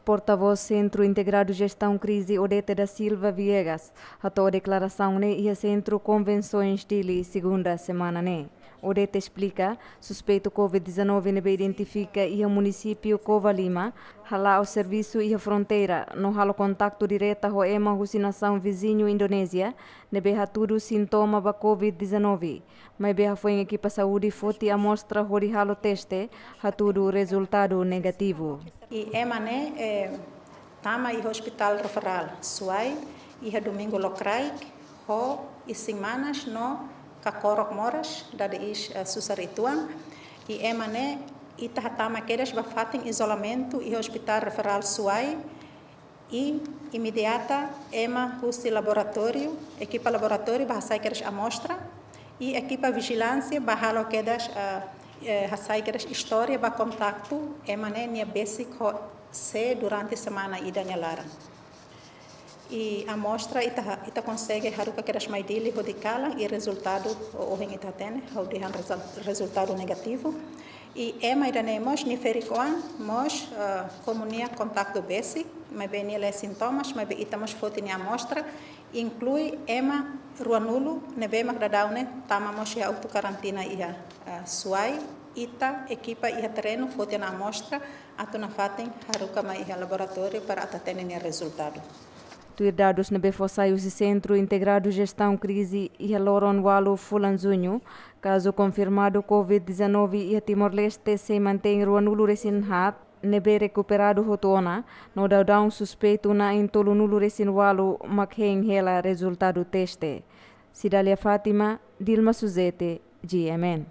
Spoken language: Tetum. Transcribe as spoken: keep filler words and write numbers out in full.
Portavós Sentru Integradu Jestaun Krize, Odete da Silva Viegas, hato'o deklarasaun ne'e iha Sentru Konvensoens Dili, segunda semana ne'e. Odete esplika, suspeitu covid dezanove ne'ebé identifika iha munisípiu Covalima, hala'o servisu iha fronteira, no halo kontaktu direta ho ema husi nasaun viziñu Indonézia, ne'ebé hatudu sintoma ba covid dezanove. Maibé hafoin ekipa saúde foti amostra hodi halo teste, hatudu rezultadu negativu. I ema ne'e, eh, tama iha Hospital Referral Suai, iha domingu lokraik, ho isin-manas no kakorok moras, dada iis, eh, susar uitoan. I ema ne'e, ita hatama kedas ba fatin izolamentu iha Hospital Referral Suai, i imediata ema husi laboratóriu, ekipa laboratóriu ba hasai kedas amostra, i ekipa vijilánsia ba halo kedas, eh, eh, hasai kedas istória ba kontaktu ema ne'e nia besik ho sé durante semana ida nia laran. I amostra ita ha-, ita konsege haruka kedas mai Dili hodi kalan, i rezultadu, o-, ohin ita hatene, ha'u dehan rezul-, rezultadu negativu. I ema ida ne'e mós, nia ferik-oan mós, eh, komu nia kontaktu besik, maibé nia la iha sintomas, maibé ita mós foti nia amostra, inklui ema ruanulu ne'ebé mak daudaun ne'e tama mós iha auto karantina iha, eh, Suai, ita ekipa iha terrenu foti ona amostra, atu nafatin haruka mai iha laboratóriu para atu hatene nia rezultadu. Tuir dadus ne'ebé fó sai husi Sentru Integradu Jestaun Krize iha loron ualu fulan Juñu, kazu konfirmadu covid dezanove iha Timor-Leste sei mantein ruanulu resin haat, ne'ebé rekuperadu hotu ona, no daudaun suspeitu na'in tolunulu resin ualu mak hein hela rezultadu teste. Cidália Fátima, Dilma Suzete, G M N.